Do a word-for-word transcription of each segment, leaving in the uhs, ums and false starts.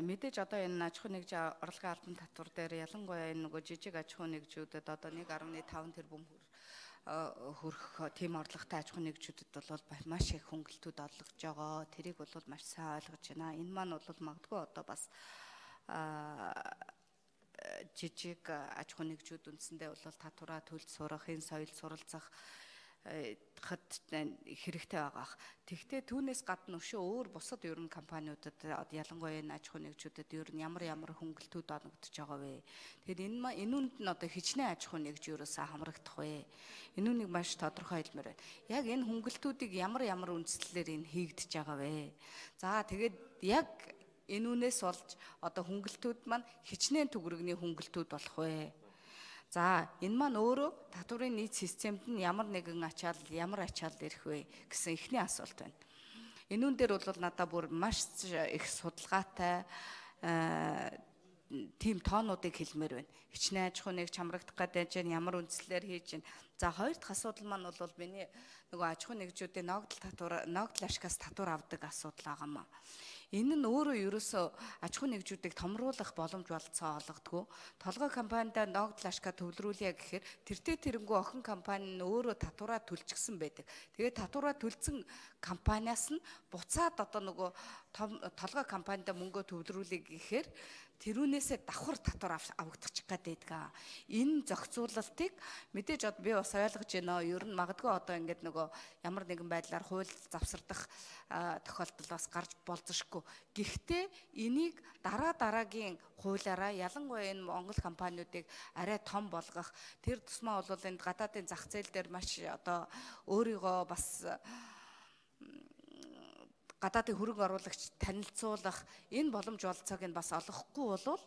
мэдээж одоо энэ аж ахуй нэгжийн орлогын албан татвар дээр ялангуяа энэ нөгөө жижиг аж ахуй нэгжүүдэд одоо нэг арван таван тэрбум хүрэх тийм орлоготой аж ахуй нэгжүүдэд бол маш их хөнгөлтүүд олгож байгаа. Тэрийг бол маш сайн ойлгож байна. Энэ маань бол магадгүй одоо бас жижиг аж ахуй нэгжүүд үндсэндээ бол татвараа төлж сурах, энэ соёл суралцах хад хэрэгтэй байгаа. Тэгвэл түүнээс гадна өшөө өөр бусад ер нь компаниудад ялангуяа энэ аж ахуй нэгжүүдэд ер нь ямар ямар хөнгөлтүүд оногдож байгаа вэ? Тэгэхээр энэ энүүнд нь одоо хичнээн аж ахуй нэгж ерөөсөө хамрагдах вэ? Энүүнийг маш тодорхой хэлмээр байна. Яг энэ хөнгөлтүүдийг ямар ямар үндслэлээр энэ хийгдэж байгаа вэ? За тэгээд яг энүүнээс болж одоо хөнгөлтүүд маань хичнээн төгрөгний хөнгөлтүүд болох вэ? За энэ маань өөрөө татварын нийт системд нь ямар нэгэн ачаал ямар ачаал ирэх вэ гэсэн эхний асуулт байна. Энүүн дээр бол надад бүр маш их судалгаатай тийм тоонуудыг хэлмээр байна. Хичнээн аж ахуй нэгж хамрагдах гэдэг нь ямар үндслэлээр хийж байна. За хоёр дахь асуудал маань бол миний нөгөө аж ахуй нэгжүүдийн ногдол татвар ногдол ашигаас татвар авдаг асуудал байгаамаа. Энэ нь өөрөө ерөөсөө аж ахуй нэгжүүдийг томруулах боломж болцоо олгодгүй. Толгой компанида ногдол ашгаа төвлөрүүлье гэхээр тэртээ тэрэнгүү охин компани нь өөрөө татвараа төлчихсөн байдаг. Тэгээд татвараа төлсөн компаниас нь буцаад одоо нөгөө толгой компанида мөнгөө төвлөрүүлье гэхээр тэрүүнээсээ давхар татвар авагдчих гээд байдаг. Энэ зохицуулалтыг мэдээж одоо би бас ойлгож байна. Ер нь магадгүй одоо ингээд нөгөө ямар нэгэн байдлаар хууль завсардах тохиолдол бас гарч болзошгүй. Гэхдээ энийг дараа дараагийн хуулиараа ялангуяа энэ Монгол компаниудыг арай том болгох тэр тусмаа бол энэ гадаадын зах зээл дээр маш одоо өөрийгөө бас гадаадын хөрөнгө оруулагч танилцуулах энэ боломж олцоог нь бас олгохгүй болвол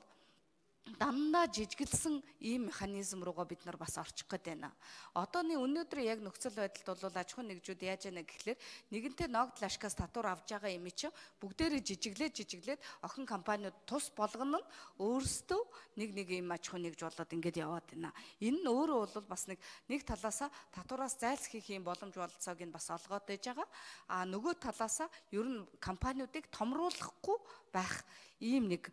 дандаа жижиглсэн ийм механизм руугаа бид нар бас орчих гээд байна. Одооны өнөөдөр яг нөхцөл байдалд бол аж ахуй нэгжүүд яаж яана гэхлээр нэгэнтээ ногдол ашгаас татвар авж байгаа юм чи бүгдээрээ жижиглээд жижиглээд охин компаниуд тус болгоно нь өөрсдөө нэг нэг ийм аж ахуй нэгж болоод ингэж яваад байна. Энэ нь өөрөө бол бас нэг нэг талаасаа татвараас зайлсхийх юм боломж болцоог нь бас олгоод байж байгаа. А нөгөө талаасаа ер нь компаниудыг томруулахгүй байх ийм нэг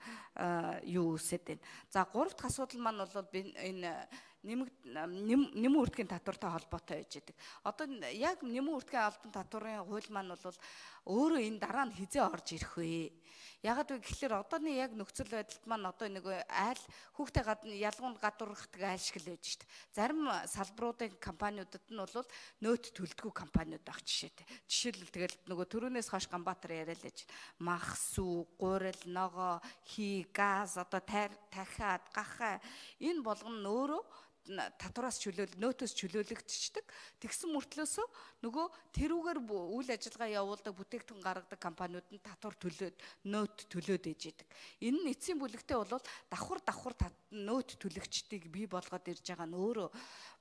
юу үсэт байна. За гурав дахь асуудал маань бол энэ нэмэн үрдэхийн татвартай холбоотой байж байгаа. Одоо яг нэмэн үрдэхийн албан татварын хууль маань бол өөрөө энэ дараа нь хизээ орж ирэх вэ? Ягаад вэ гэхээр одооны яг нөхцөл байдалд маань одоо нэг айл хүүхдээ гадна ялгуунд гадуурхдаг айл шиг л байж шít. Зарим салбаруудын компаниудад нь бол нөөт төлдгүү компаниуд байх жишээтэй. Жишээлбэл тэгэл нөгөө төрөөнөөс хойш Ганбаатар яриа л ээж махс уу, гурил, ногоо, хий, газ одоо тахиад, гахаа энэ болгоно нь өөрөө татвараас чөлөөл нөөтөөс чөлөөлөгдчихдөг. Тэгсэн мөртлөөсөө нөгөө тэрүүгээр үйл ажиллагаа явуулдаг бүтээгдэхүүн гаргадаг компаниуд нь татвар төлөөд нөөт төлөөд ээж идэг. Энэ нь эцсийн бүлэгтээ бол давхар давхар нөөт төлөгчдийг бий болгоод ирж байгаа нь өөрөө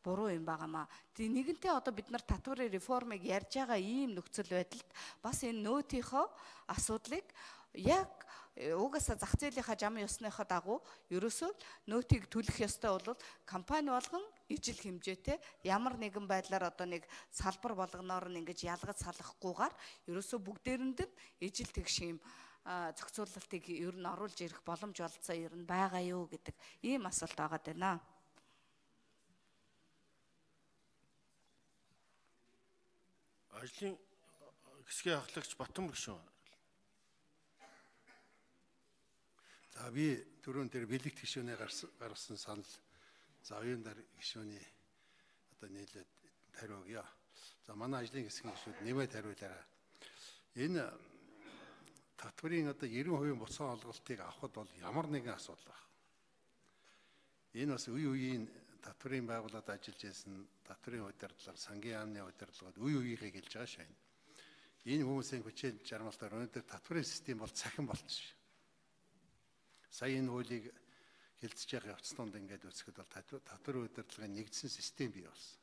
буруу юм байгаамаа. Тэг нэгэнтээ одоо бид нар татварын реформыг ярьж байгаа ийм нөхцөл байдалд бас энэ нөөтийнхөө асуудлыг яг угаасаа зах зээлийнхаа жам ёсныхаа дагуу ерөөсөө нөөтийг төлөх ёстой бол компани болгон ижил хэмжээтэй ямар нэгэн байдлаар одоо нэг салбар болгоноор нь ингэж ялгаж салахгүйгээр ерөөсөө бүгдээрэнд нь ижил тэгш юм зохицуулалтыг ер нь оруулж ирэх боломж олцоо ер нь байгаа юу гэдэг ийм асуулт байгаа даа. Ажлын хэсгийн ахлагч Батбаяр гишүүн. За би түрүүн дээр бэлэгт гишүүнээ гаргасан санал за оюун дар гишүүний одоо нийлээд тариу өгье. За манай ажлын хэсгийн гишүүд нэмээд хариулаарай. Энэ татварын одоо девяносто хувийн буцаан олголтыг авахд бол ямар нэгэн асуудал байна. Энэ бас үе үеийн татварын байгууллагад ажиллаж байсан татварын удирдлага, сангийн яамны удирдлагад үе үеийнхээ гэлж байгаа шээ. Энэ хүмүүсийн хүчээр жармалтаар өнөөдөр татварын систем бол цахин болчихсон. Сая энэ хуулийг хэлцэж байгаа явцданд ингээд үзэхэд бол татварын удирдлагын нэгдсэн систем бий болсон.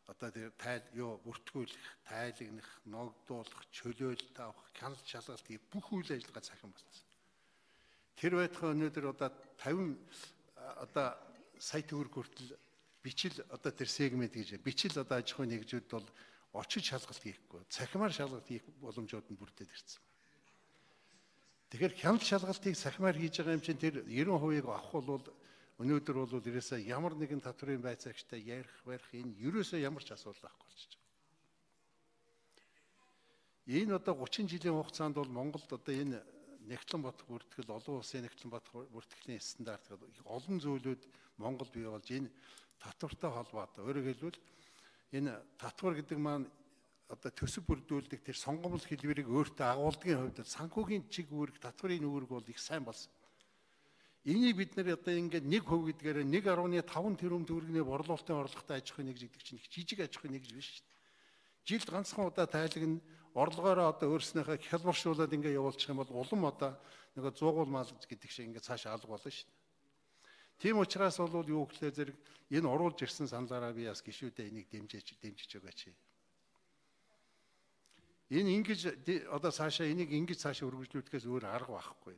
Одоо тэр тайл юу бүртгүүлэх, тайлагнах, ногдуулах, чөлөөлөлт авах, хяналт шалгалт гэх бүх үйл ажиллагаа цахим болсон. Тэр байтугай өнөөдөр одоо тавин одоо сая төгрөг хүртэл бичил одоо тэр сегмент гэж бичил одоо аж ахуй нэгжүүд бол очиж шалгалт хийхгүй, цахимаар шалгалт хийх боломжууд нь бүрдээд ирсэн. Тэгэхээр хяналт шалгалтыг сахимаар хийж байгаа юм чинь тэр ninety percent-ийг авах бол өнөөдөр бол ерөөсөө ямар нэгэн татврын байцаагчтай ярих барих энэ ерөөсөө ямар ч асуудал байхгүй болчихж байгаа. Энэ одоо thirty жилийн хугацаанд бол Монголд одоо энэ нэгтлэн бодох бүртгэл, олон улсын нэгтлэн бодох бүртгэлийн стандарт гэдэг олон зүйлүүд Монголд бий болж энэ татвартай холбоотой. Өөрөөр хэлбэл энэ татвар гэдэг маань одоо төсөв бүрдүүлдэг тэр сонгомжл хэлбэрийг өөртөө агуулдгийн хувьд санхүүгийн чиг үүрэг, татврын үүрэг бол их сайн болсон. Энийг бид нэр одоо ингээд нэг хувь гэдгээр one point five тэрбум төгрөгийн борлуулалтын орлоготой аж ахуйн нэгж гэдэг чинь их жижиг аж ахуйн нэгж биш шүү дээ. Жилд ганцхан удаа тайлгна орлогоороо одоо өөрснийхөө хялбаршуулаад ингээд явуулчих юм бол улам одоо нэг зуугуул мал гэдэг шиг ингээд цааш алга болно шүү дээ. Тийм учраас бол юу гэхлээр зэрэг энэ оруулж ирсэн саналаараа би бас гişүүдээ энийг дэмжиж дэмжиж өгөөч. Энэ ингэж одоо цаашаа энийг ингэж цаашаа өргөжлүүлэхээс өөр арга байхгүй.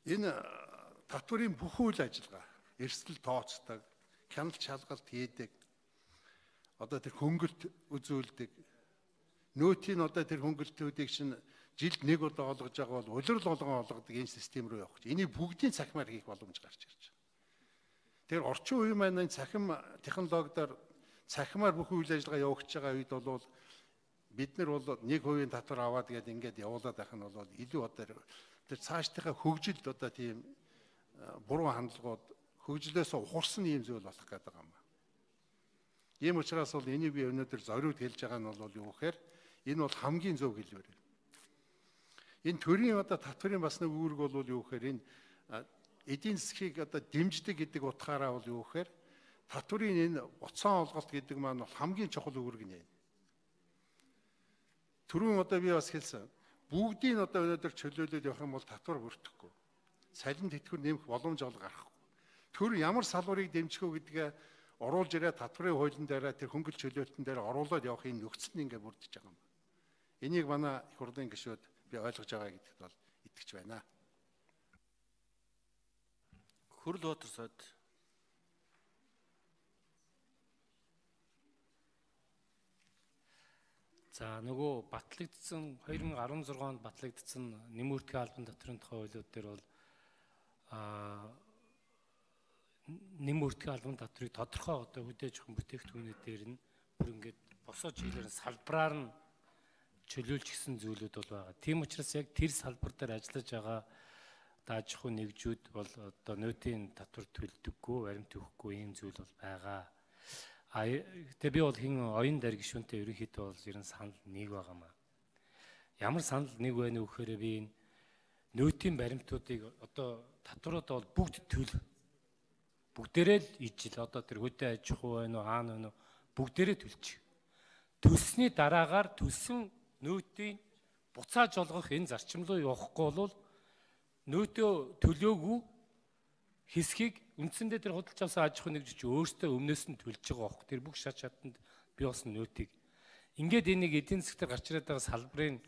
Энэ татврын бүх үйл ажиллагаа, эрсдэл тооцдог, хяналт шалгалт хийдэг, одоо тэр хөнгөлт үзүүлдэг, нөөтийн одоо тэр хөнгөлтүүдийг чинь жилд нэг удаа олгож байгаа бол улирал болгон олгодог энэ систем рүү явах гэж. Энийг бүгдийн цахимаар хийх боломж гарч ирж байна. Тэр орчин үеийн маань цахим технологиор цахимаар бүх үйл ажиллагаа явагдаж байгаа үед бол бид нар бол one percent татвар аваад гээд ингээд явуулаад байх нь бол илүү одоо тэр цаашдынхаа хөгжилд одоо тийм буруу хандлагууд хөгжлөөс ухарсан юм зүйл болох гэдэг юм. Ийм учраас бол энийг би өнөөдөр зориуд хэлж байгаа нь бол юу гэхээр энэ бол хамгийн зөв хэлбэр. Энэ төрийн одоо татврын бас нэг үүрэг бол юу гэхээр энэ эдийн засгийг одоо дэмждэг гэдэг утгаараа бол юу гэхээр татврын энэ буцаан олголт гэдэг маань бол хамгийн чухал үүрэг нэ. Түрүүн одоо би бас хэлсэн. Бүгдийг одоо өнөөдөр чөлөөлөд явах юм бол татвар бүрдэхгүй. Салин тэтгэвэр нэмэх боломж ол гарахгүй. Тэр ямар салбарыг дэмжих үү гэдгээ оруулж ирээ татврын хуулийн дээр тэр хөнгөлт чөлөөлтөн дээр оруулаад явах энэ нөхцөл нь ингээ бүрдэж байгаа юм. Энийг манай их хурлын гишүүд би ойлгож байгаа гэдэгт бол итгэж байна. Хөрөл Баатар сайд. За нөгөө батлагдсан twenty sixteen онд батлагдсан нэмүртгий албан татврын тухай хуулиуд дээр бол а нэмүртгий албан татврыг тодорхой одоо хүлээж авах бүтээгдэхүүнүүд дээр нь бүр ингээд босоо чиглэлээр салбараар нь чөлөөлж гисэн зүйлүүд бол байгаа. Тийм учраас яг тэр салбар дээр ажиллаж байгаа аж ахуй нэгжүүд бол одоо нөөтийн татвар төлдөггүй, баримт өгөхгүй ийм зүйл бол байгаа. А тэгээ би бол хин оюун дайр гишүүнтэй ерөнхийдөө бол ер нь санал нэг байгаамаа. Ямар санал нэг вэ нөхөөрөө би энэ нөөтийн баримтуудыг одоо татваруудаа бол бүгд төл бүгдээрээ л ижил одоо тэр хөдөө аж ахуй байна уу хаана байна уу бүгдээрээ төлчих. Төлсний дараагаар төлсөн нөөтийн буцааж олгох энэ зарчим руу явахгүй бол нөөтөө төлөөгүй хэсгийг үндсэндээ тэр худалдаж авсан аж ахуй нэгж өөртөө өмнөөс нь төлж байгаа бохоо. Тэр бүх шат шатанд бий болсон нөөтийг ингээд энийг эдийн засгаар гарч ирээд байгаа салбарын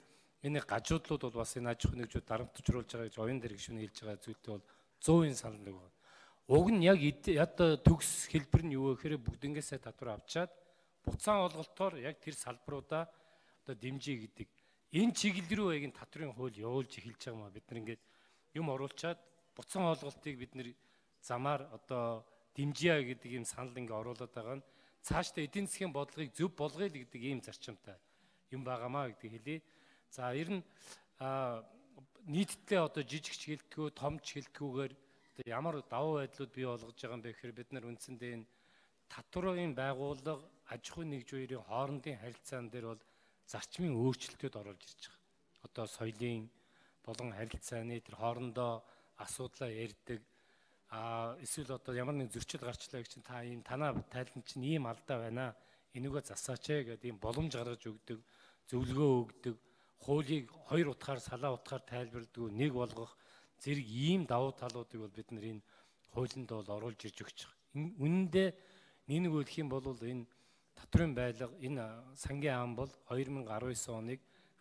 энэ гажуудлууд бол бас энэ аж ахуй нэгжүүд дарамтжруулж байгаа гэж оюун дээр гишүүн хэлж байгаа зүйлтэй бол one hundred санал нэг байна. Уг нь яг одоо төгс хэлбэр нь юу вэ гэхээр бүгднгээсээ татвар авчаад буцаан олголтоор яг тэр салбаруудаа одоо дэмжиж гэдэг энэ чиглэл рүү яг энэ татврын хууль явуулж эхэлж байгаа маа бид нар ингээд юм оруулчаад буцаан олголтыг бид нэр замаар одоо дэмжийе гэдэг ийм санал ингээ оруулаад байгаа нь цаашдаа эдийн засгийн бодлогыг зөв болгоё л гэдэг ийм зарчимтай юм байгаамаа гэдэг хэлье. За ер нь нийтдээ одоо жижиг ч хэлтгүү, том ч хэлтгүүгээр одоо ямар давуу байдлууд бий болгож байгаа юм бэ гэхээр бид нар үндсэндээ энэ татврын байгууллага аж ахуй нэгжүүрийн хоорондын харилцаан дээр бол зарчмын өөрчлөлтүүд оруулж ирж байгаа. Одоо соёлын болон харилцааны тэр хоорондоо асуудлаа ярьдаг а эсвэл одоо ямар нэг зөрчил гарчлаа гэж чинь та ийм танаа тайлан чинь ийм алдаа байна. Энийгөө засаач ээ гэдэг ийм боломж гаргаж өгдөг, зөвлөгөө өгдөг, хуулийг хоёр утгаар салаа утгаар тайлбарладаг, нэг болгох зэрэг ийм давуу талуудыг бол бид нар энэ хуулинд бол оруулж ирж өгч байгаа. Үнэндээ нэг үлдэх юм бол энэ татврын байлга энэ сангийн ам бол two thousand nineteen оныг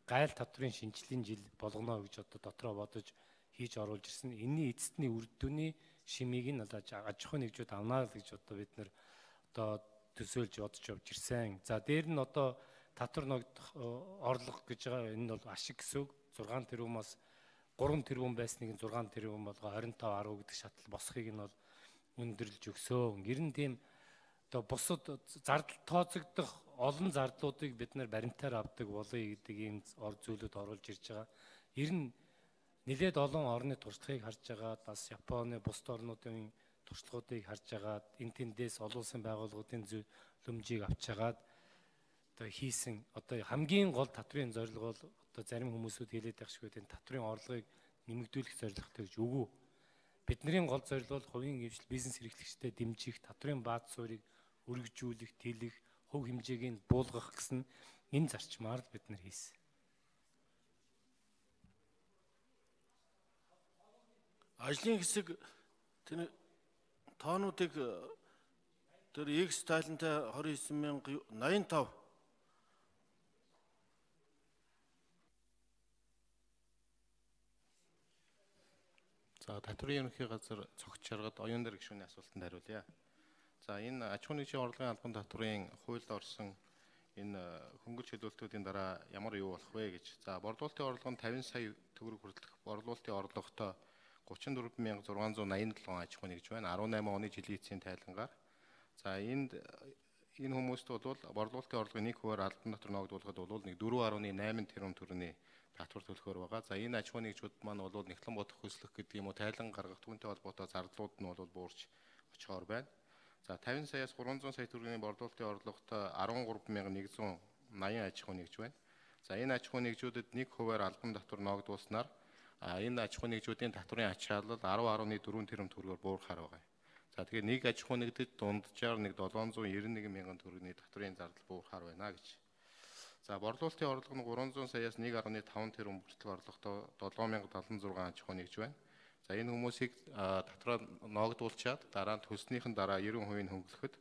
гайл татврын шинжилгээний жил болгоно гэж одоо дотроо бодож хийж оруулж ирсэн. Энэний эцэстний үр дүний шимийг нь аж ахуй нэгжүүд авнаа л гэж одоо бид нар одоо төсөөлж бодож явж ирсэн. За дээр нь одоо татвар ногдох орлого гэж байгаа энэ бол ашиг гэсэн үг. six тэрбумаас гурван тэрбум байсныг зургаан тэрбум болгоо хорин тав арав гэдэг шатал босхийг нь бол өндөрлж өгсөн. Ер нь тийм одоо бусад зардал тооцогдох олон зардлуудыг бид нар баримтаар авдаг болъё гэдэг ийм ор зүйлүүд оруулж ирж байгаа. Ер нь нэлээд олон орны туршлагыг харж байгаа, бас Японы бусад орнуудын туршлагуудыг харж байгаа, энэ тэндээс олон улсын байгууллагуудын зөвлөмжийг авч хагаад одоо хийсэн одоо хамгийн гол татврын зорилго бол одоо зарим хүмүүсүүд хэлээд байх шиг энэ татврын орлогыг нэмэгдүүлэх зорилготой гэж үгүй. Бидний гол зорилго бол хувийн хэмжил бизнес эрхлэгчдэд дэмжих, татврын бааз суурийг өргөжүүлэх, тэлэх, хөв хэмжээг нь буулгах гэсэн энэ зарчмаар л бид нар хийсэн. Ажлын хэсэг тэр тоонуудыг тэр X тайлантай двадцать девять мянга восемьдесят пять. За татврын ерөнхий газар цогц шаргад оюун дээр гишүүний асуултанд хариулъя. За энэ аж ахуйн нэгжийн орлогын албан татврын хуульд орсон энэ хөнгөлөлт чөлөөлтүүдийн дараа ямар юу болох вэ гэж. За борлуулалтын орлого нь тавин сая төгрөг хүртэлх борлуулалтын орлоготой гучин дөрвөн мянга зургаан зуун наян долоо аж ахуй нэгж байна. арван найман оны жилийн эцсийн тайлангаар. За энд энэ хүмүүст бол борлуулалтын орлогын нэг хувиар албан татвар ногдуулахад бол нэг дөрвөн нурууны найман тэрбум төгрөгийн татвар төлөхөөр байгаа. За энэ аж ахуй нэгжүүд маань бол нэгтлэн бодох хөслөх гэдэг юм уу тайлан гаргах түүнтэй холбоотой зардлууд нь бол буурч очихоор байна. За тавин саяас гурван зуун сая төгрөгийн борлуулалтын орлоготой арван гурван мянга нэгдүгээр наян аж ахуй нэгж байна. За энэ аж ахуй нэгжүүдэд нэг хувиар албан татвар ногдуулснаар энэ аж ахуй нэгжүүдийн татврын ачаалал арван гаруй дөрвөн тэрбум төгрөгөөр буурахаар байгаа. За тэгэхээр нэг аж ахуй нэгдэд дунджаар нэг долоон зуун девяносто нэг мянган төгрөгийн татврын зардал буурахаар байна гэж. За борлуулалтын орлого нь гурван зуун саяас нэг гаруй таван тэрбум хүртэл орлоготой долоон мянга дадлан зургаан аж ахуй нэгж байна. За энэ хүмүүсийг татвараа ногдуулчаад дараа нь төлснийхэн дараа девяносто хувийг хөнгөлөхөд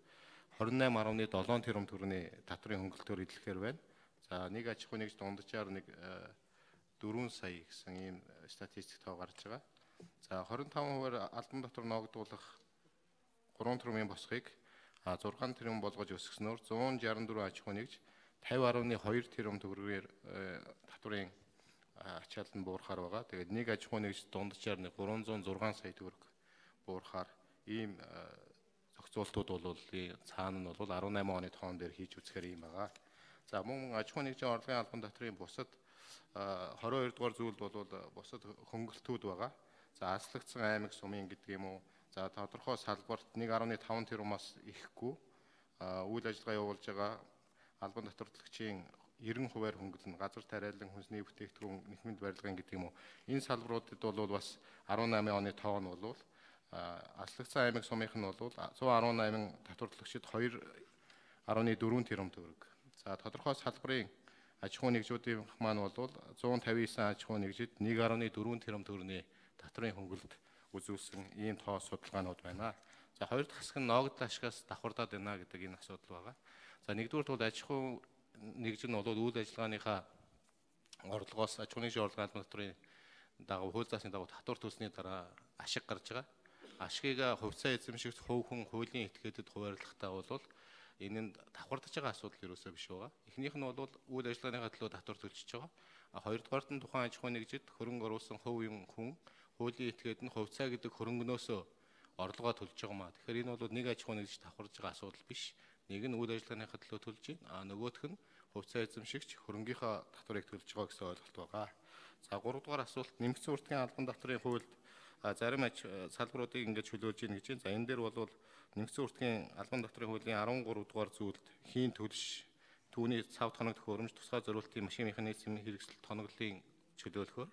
двадцать восемь гаруй долоон тэрбум төгрөгийн татврын хөнгөлтөөр идэлхээр байна. За нэг аж ахуй нэгж дунджаар нэг дөрвөн сая гэсэн ийм статистик тоо гарч байгаа. За двадцать пять хувиар албан татвар ногдуулах гурван тэрбумын босхийг зургаан тэрбум болгож өсгснөөр зуун шестьдесят дөрвөн аж ахуй нэгж пятьдесят гаруй two тэрбум төгрөгээр татврын ачаалал нь буурахаар байгаа. Тэгээд нэг аж ахуй нэгж дунджаар нэг гурван зуун зургаан сая төгрөг буурахаар ийм зохицуултууд бол цаана нь бол арван найман оны тоон дээр хийж үзэхээр ийм байгаа. За мөн аж ахуй нэгжийн орлогын албан татврын бусад двадцать two дугаар зүйл бол бусад хөнгөлтүүд байгаа. За аслагдсан аймаг сумын гэдэг юм уу. За тодорхой салбарт нэг гаруй таван тэрбумаас ихэхгүй үйл ажиллагаа явуулж байгаа албан татварлагчийн девяносто хувиар хөнгөлнө. Газар тариалан хүнсний бүтээгдэхүүн нэхмэнд барилгын гэдэг юм уу. Энэ салбаруудад бол бас арван найман оны тоон бол аслагдсан аймаг сумынх нь бол one eighteen татварлагчид two гаруй дөрвөн тэрбум төгрөг. За тодорхой салбарын аж ахуй нэгжүүдийн маань бол one fifty-nine аж ахуй нэгжид one гаруй дөрвөн тэрбум төгрөгийн татврын хөнгөлөлт үзүүлсэн ийм тоо судалгаанууд байна. За хоёр дахь хэсэг нь ногдол ашигаас давхардаад байна гэдэг энэ асуудал байгаа. За нэгдүгээр бол аж ахуй нэгж нь бол үйл ажиллагааныхаа орлогоос аж ахуй нэгжийн орлогын албан татврын дагуу хууль заасны дагуу татвар төлсний дараа ашиг гарч байгаа. Ашгийг хувьцаа эзэмшигч хувь хүн хуулийн этгээдэд хуваарлахтаа бол энэ нь давхардаж байгаа асуудал юусоо биш байгаа. Эхнийх нь бол үйл ажиллагааныхаа төлөө татвар төлчихөж байгаа. Хоёрдугаарт нь тухайн аж ахуй нэгжид хөрөнгө оруулсан хувийн хүн хуулийн этгээд нь хувьцаа гэдэг хөрөнгөнөөсөө орлогоо төлж байгаа маа. Тэгэхээр энэ бол нэг аж ахуй нэгж давхарж байгаа асуудал биш. Нэг нь үйл ажиллагааныхаа төлөө төлж байна. А нөгөөх нь хувьцаа эзэмшигч хөрөнгийнхаа татварыг төлж байгаа гэсэн ойлголт байгаа. За гуравдугаар асуулт нэмэгдсэн уртгийн албан татврын хуульд зарим аж салбаруудыг ингэж чөлөөлж ийн гэж байна. За энэ дээр бол нэмэгдсэн уртгийн албан татврын хуулийн thirteen дугаар зүйлд хийн төлш түүний цав тоног төхөөрөмж тусгай зориултын машин механизмын хэрэгсэл тоноглолын чөлөөлөхөөр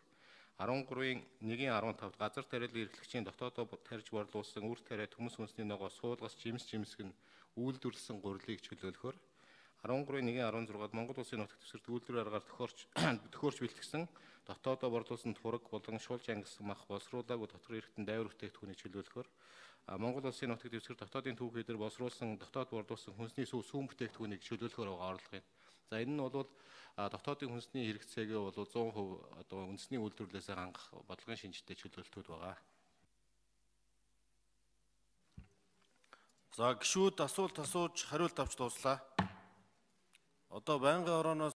thirteen one fifteen газар тариалан эрхлэгчийн дотоодоо тарьж борлуулсан үр тариа төмс хүнсний ногоо суулгас жимс жимсг нь үйлдвэрлэсэн гурилыг чөлөөлөхөөр thirteen one sixд Монгол улсын нутаг дэвсгэрт үйлдвэр аргаар төхөөрч төхөөрч бэлтгэсэн дотоодоо борлуулсан тураг болон шуулж ангилсан мах боловсруулаагүй дотор эрхтэн дайвар бүтээгдэхүүнийг чөлөөлөхөөр Монгол улсын нутаг дэвсгэр дотоодын түүхийдэр боловсруулсан дотоод борлуулсан хүнсний сүү сүүн бүтээгдэхүүнийг чөлөөлөхөөр байгаа орлогын. За энэ нь бол дотоодын хүнсний хэрэгцээгээ бол one hundred percent одоо үндэсний үйлдвэрлэлээс хангах бодлогын шинжтэй чөлөөлтүүд байгаа. За гишүүд асуулт асууж хариулт авч дууслаа. Одоо байнгын орооноос